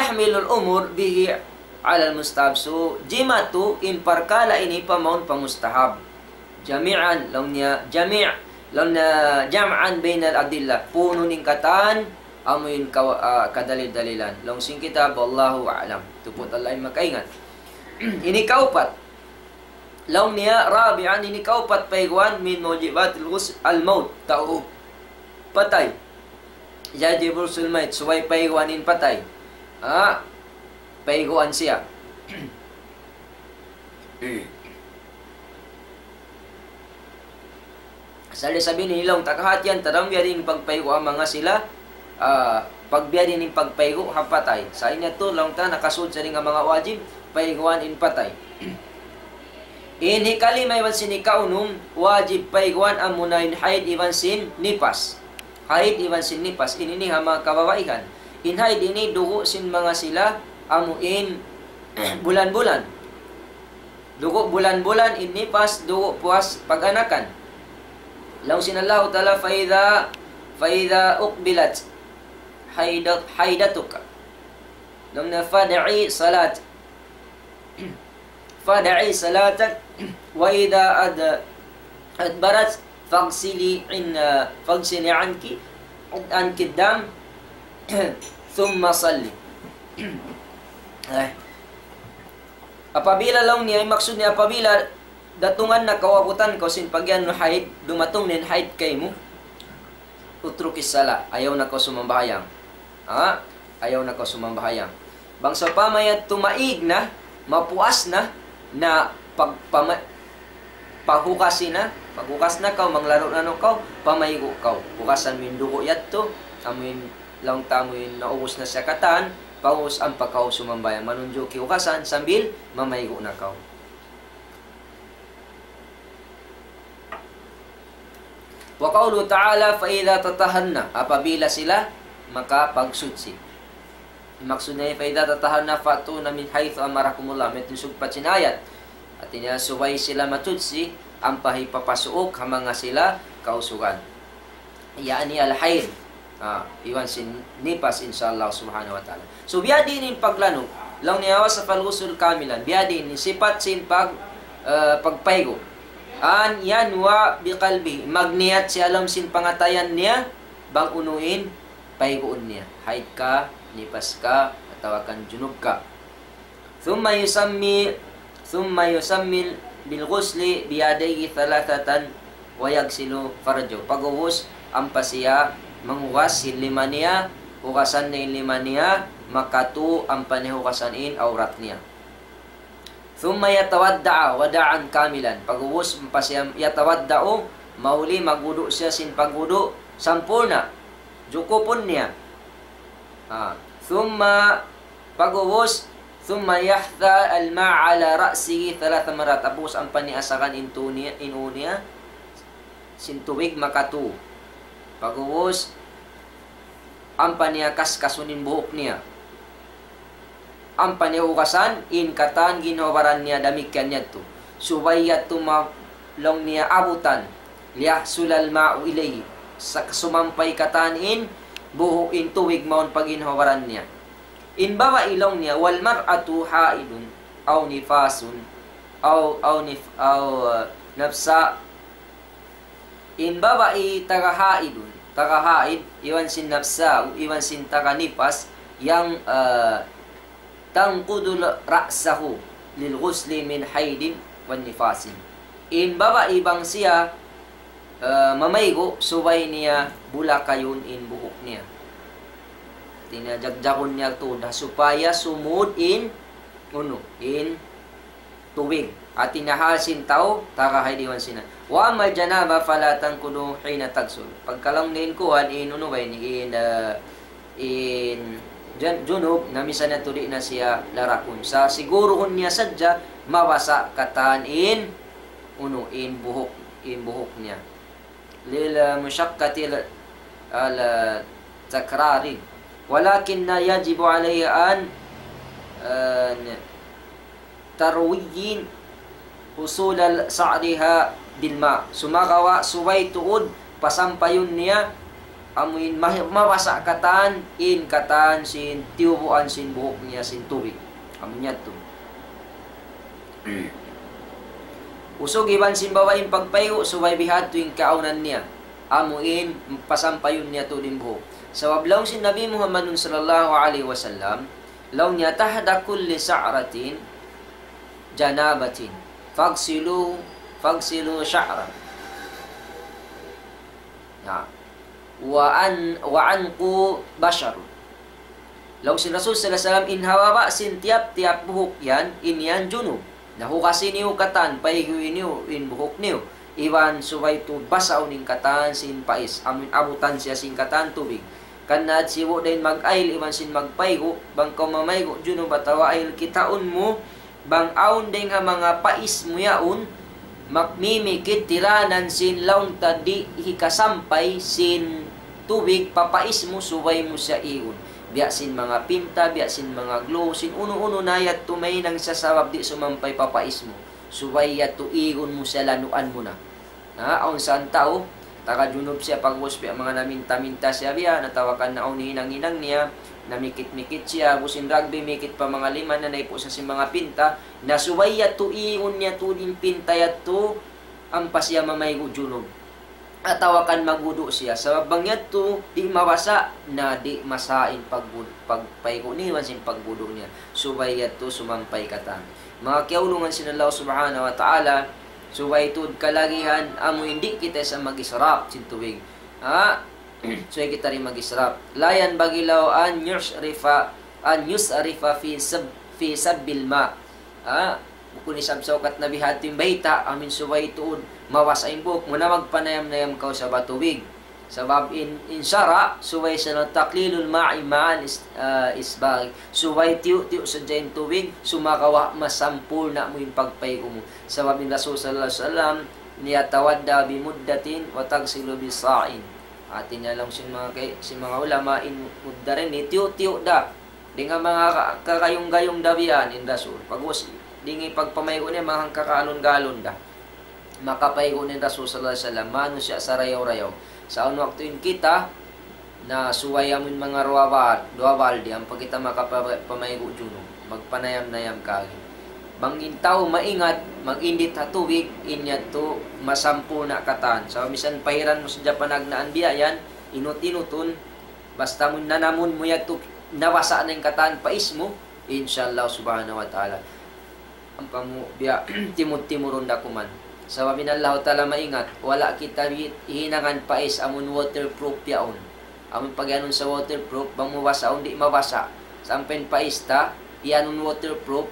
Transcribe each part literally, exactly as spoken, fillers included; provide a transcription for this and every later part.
يحمل الأمر به على المستحب. So, jimatu in parkala' ini pa mawn pa mustahab. Jami'an, laung niya, jami', laung niya, jam'an bainal adillah. Puunun in katan, amu in kaw-, ah, kadalil-dalilan. Laung sin kitab, wallahu a'lam. Tuput Allah in makaingat. Ini kaupat. Laung niya, rabi'an, ini kaupat payguan min mujibatil ghusl al-maut. Tau patay. Yajibul ghusl mayt, subay payguan in patay. Ah, payguan siya. Asal di' sabi ini laung ta kahatihan, tadang biya' diin pagpaygu' ha manga sila, ah, pag biya' diin in pagpaygu' ha patay. Sa' ini yadtu laung ta nakasud sa dayn ha manga wajib, payguan in patay. In hikalima iban sin hikaunum, wajib payguan amuna in haid iban sin nipas. Haid iban sin nipas, ini ini ha manga kababaihan. In haid ini dugu' sin manga sila, amu in bulan-bulan. Dugu' bulan-bulan, in nipas, dugu' puas pag-anakan. Laung sin Allahu Ta'ala, فإذا، فإذا أقبلت حيض-، حيضتك. Laung niya, فدعي صلاة، فدعي صلاتك، وإذا أد-، أدبرت فاغسلي عن-، فاغسلي عنك، عنك الدم، ثم صلي. Eh. Apabila laung niya, in maksud niya, apabila datungan na kaw, abutan kaw sin pag-iyanun haid, dumatung na in haid kaymu, اتركي الصلاة, ayaw na kaw sumambahayang. Ha? Ayaw na kaw sumambahayang. Bang sawpama yadtu maig na, mapuas na, na pag-, pama-, paghugas na, paghugas na kaw, manglanu-lanu kaw, pamaygu' kaw. Hugasan mu in dugu' yadtu, amu in laung ta amu in naubus na siya katan, pag'ubus ampa kaw sumambahayang. Manunjuki hugasan sambil mamaygu' na kaw. وقوله تعالى: فإذا تطهرن, apabila sila makapagsuchi. Maksud niya, فإذا تطهرن فأتون من حيث أمركم الله. Mayta' in sugpat sin ayat. Hātinya, subay sila masuchi, ampa hipapasuuk ha manga sila kausugan. يعني الحيض. Ah, iban sin nipas, insya Allah subhanahu wa ta'ala. So, biyadiin in paglanug. Laung niya, وصف الغسل كاملا. Biyadiin in sipat sin pag-, eh, pagpaygu'. أن ينوي بقلبه. Magniyat siya ha lawm sin pangatayan niya, bang unu in payguun niya. Haid ka, nipas ka, atawa kan junub ka. ثم يسمي، ثم يسمي بالغسل بيديه ثلاثة ويغسل فرجه. Pag'ubus, ampa siya manghugas sin lima niya, hugasan niya in lima niya, makatu ampa niya hugasan in awrat niya. ثم يتوضأ وضوءا كاملا. Pag'ubus, ampa siya يتوضأ, mahuli magwudu' siya sin pagwudu' sampurna'. Jukupun niya. Ah, ثم Pag'ubus, ثم يحث الماء على رأسه ثلاث مرات. Pag'ubus, ampa niya asakan in tuu niya, in uu niya, sin tubig makatu. Pag'ubus, ampa niya kaskasun in buhuk niya. Ampa niya hugasan in katan ginhawa-baran niya, damikkiyan yadtu. Subay yadtu ma-, laung niya abutan. ليصل الماء إليه. Sa-, sumampay katan in buhuk, in tubig mawn pa ginhawa-baran niya. In babai laung niya, والمرأة حائض أو نفاس أو، أو نف-، أو، uh, نفساء. In babai taga haidun, taga haid, iban sin nafsa, iban sin taga nipas, yang, uh, تنقض رأسه للغسل من حيض ونفاس. In babai bang siya, eh, mamaygu', subay niya bulakayun in buhuk niya. Hāti niya jagjagun niya tuud ha supaya sumud in, unu, in tubig. Hāti niya hal sin tau, taga haid iban sin. وأما الجنابة فلا تنقض حين تغسل. Pagka laung niya in kuwan, in unu ba ini, in, eh, in jan-, junub, na misan na tuud di' na siya larakun. Sa' siguruhun niya sadja, mabasa' katan in, unu, in buhuk, in buhuk niya. للمشقة ال-، التكرار. ولكن يجب عليه أن، eh, تروي أصول شعرها بالماء. Sumagawa' subay tuud pasampayun niya amuin ma-, mabasa' katan, in katan sin tiyubuan sin buhuk niya sin tubig. Amu niya tu. Usug iban sin babai in pagpaygu', subay bihadtu in kaawnan niya. Amuin pasampayun niya tuud in buhuk. Sabab laung sin Nabi Muhammadun sallallahu alayhi wasallam, laung niya, تحت كل شعرة جنابة فاغسلوا، فاغسلوا شعرة. Ya. وأن-، وأنقوا بشرة. Laung sin Rasul sallallahu alayhi wasallam, in ha baba' sin tiyap-tiyap buhuk yan, in yan junub. Na hugasi niyu katan, paygu'i niyu in buhuk niyu. Iban subay tuud basaun in katan sin pais, amun abutan siya sin katan tubig. Karna' sibu' da in mag-ayil iban sin magpaygu', bang kaw mamaygu' junub atawa ayil, kitaun mu, bang awn dayng ha manga pais mu yaun, magmimikit tiranan sin laung ta di' hikasampay sin tubig pa pais mu, subay mu siya igun. Biya' sin manga pinta, biya' sin manga glue, sin unu-unu na yadtu mahinang siya sabab di' sumampay pa pais mu. Subay yadtu igun mu siya, lanuan mu na. Ha, awn sa tau, taga junub siya, pag'ubus biya' manga naminta-minta siya biya', natawakan na awn hinang-hinang niya, namikit-mikit siya, busin rugby mikit pa manga lima na naipu' sa sin manga pinta, na subay yadtu igun niya tuud in pinta yadtu, ampa siya mamaygu' junub. Atawa kan magwudu' siya. Sabab bang yadtu, di' mabasa', na di' masa in pagwud-, pagpaygu' niya iban sin pagwudu' niya. Subay yadtu sumampay katan. Manga kiyaulungan sin Allah Subhanahu wa Ta'ala, subay tuud kalagihan, amu in di' kita sa mag-israf sin tubig. Ha? Subay kita di' mag-israf. لا ينبغي له أن يسرف، أن يسرف في سب-، في سب الماء. Ha? Bukun isab saukat na bihadtu in bayta', amu in subay tuud mabasa' in buhuk mu na magpanayam-nayam kaw sabab tubig. Sabab in, in sara', subay sa na تقليل الماء مع الإس-، ah, إسباغ. Subay tiyu'-tiyu' sadja in tubig, sumagawa' masampurna' mu in pagpaygu' mu. Sabab in Rasul sallallahu alayhi wasallam, يتوضأ بمدة ويغتسل بصاع. Hati niya laung sin manga kay-, sin manga ulama, in mudda ini, tiyu'-tiyu' da. Dayn ha manga ka-, kagayung-gayung da biya' yan in Rasul. Pag'ubus, dayn ha pagpamaygu' niya, manga hangka galon-galon da. Makapaygu' in Rasul sallallahu alayhi wasallam, manusiya' sarayaw-rayaw. Sa' awn waktu in kita, na subay amu in manga duwa bal-, duwa baldi, ampa kita makapa-, pamaygu' junub. Magpanayam-nayam kaagi. Bang in tau maingat, mag-indit ha tubig, in yadtu masampurna' katan. Sa' misan pahiran mu sadja panagnaan biya' yan, inut-inutun, basta mu nanamun mu yadtu, nabasa' na in katan pais mu, insha Allah subhanahu wa ta'ala. Ampa mu biya' timud-timurun da kuman. Sabab in Allahu Ta'ala maingat, wala' kita bi-, hinangan pais amun waterproof yaun. Amun pagiyanun sa waterproof, bang mu basaun di' mabasa'. Sampay in pais ta, iyanun waterproof,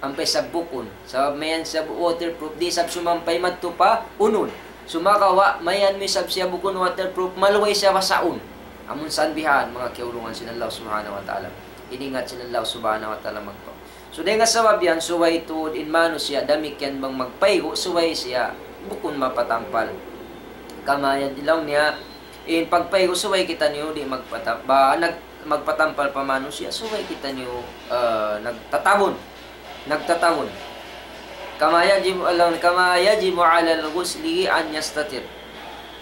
ampa isab bukun. Sabab mayan isab waterproof, di' isab sumampay madtu pa unun. Sumagawa', mayan mu isab siya bukun waterproof, maluhay siya basaun. Amun sa bihan, manga kiyaulungan sin Allah Subhanahu wa Ta'ala. Iningat sin Allah Subhanahu wa Ta'ala magpa-. So, dayn ha sabab yan, subay tuud in manusiya', damikkiyan bang magpaygu', subay siya bukun mapatampal. Kama yan, laung niya, in pagpaygu', subay kitaniyu di' magpata-, ba, nag-, magpatampal pa manusiya', subay kitaniyu, ah, nagtatabun. Nagtatabun. كما يجب، كما يجب على الغسل أن يستتر.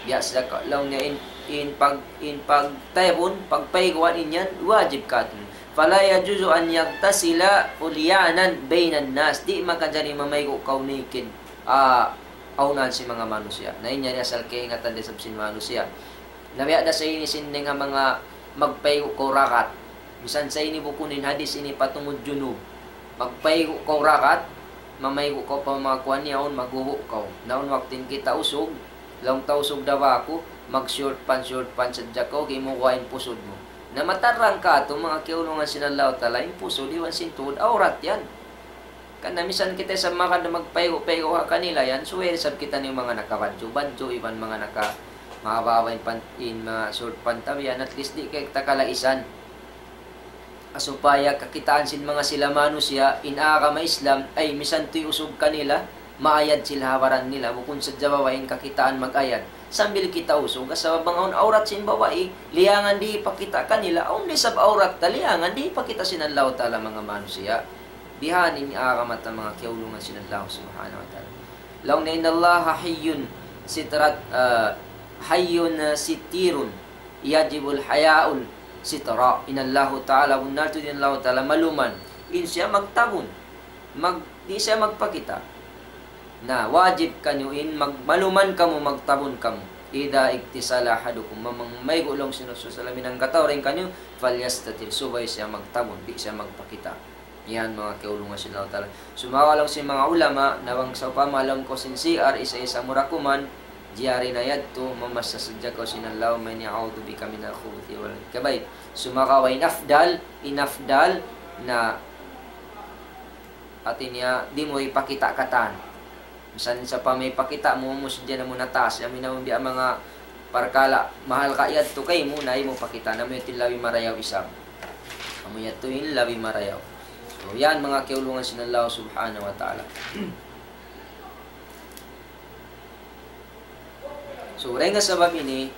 Biya' sa ka-, laung niya in, in pag-, in pagtabun, pagpayguan in yan, wajib katu'. فلا يجوز أن يغتسل عريانا بين الناس. Di' makajari mamaygu' kaw naked, ah, ha unahan sin manga manusiya'. Na in yan asal kaingatan da isab sin manusiya'. Na biya' da sa ini sin dayn ha manga magpaygu' kaw rakat. Misan sa ini bukun in hadis ini patungud junub. Magpaygu' kaw rakat, mamaygu' kaw pa manga kuwan yaun, magwudu' kaw. Na awn waktu in kita usug, laung ta usug da ba aku, mag-short pants, short pants sadja kaw, gimuwa' in pusud mu. Na matarrang katu', manga kiyaulungan sin Allahu Ta'ala, in pusud, iban sin tuud, awrat yan. Karna' misan kita isab makad magpaygu'-paygu' ha kanila yan, subay isab kitaniyu manga nakabadju'-badju', iban manga naka-, mahaba'-haba' in pan-, in, ah, short pants ta biya' yan, at least di' kita kalaisan. Ah, supaya kakitaan sin manga sila manusiya', in agama Islam, ay misan tuy usug kanila, maayad sila ha baran nila, bukun sadja babai in kakitaan mag-ayad. Sambil kita usug, sabab bang awn awrat sin babai, liyangan di' hipakita' kanila, awn da isab awrat ta, liyangan di' hipakita' sin Allahu Ta'ala manga manusiya'. Bihan in agama ta manga kiyaulungan sin Allah Subhanahu wa Ta'ala. Laung niya, إن الله حي سترة، ah, حي ستير. يجب الحياء سترا. In Allahu Ta'ala, bunnal tuud in Allahu Ta'ala maluman in siya magtabun. Mag, di' siya magpakita'. Na, wajib kaniyu in mag, maluman kamu, magtabun kamu. إذا اغتسل أحدكم, mamang maygu' laung sin Rasul sallallahu alayhi wasallam in hangkatau dayn kaniyu, فليستتر, subay siya magtabun, di' siya magpakita'. Yan, manga kiyaulungan sin Allahu Ta'ala. Sumagawa' laung sin manga ulama, na bang sawpama lawm kaw sin C R, isa-isa mu da kuman, jari na yadtu, mamassa sadja kaw sin Allahumma inni a'udhu bika minal khubuthi wal khaba'ith. Sumagawa' in afdal, in afdal na hati niya, di' mu ipakita' katan. Misan sawpama ipakita' mu, mu sadja na mu nataas, amu in biya' manga parkala', mahalga' yadtu kaymu, na di' mu pakita', na amu yadtu in labi marayaw isab. Amu yadtu in labi marayaw. So, yan manga kiyaulungan sin Allah subhanahu wa ta'ala. So, dayn ha sabab ini,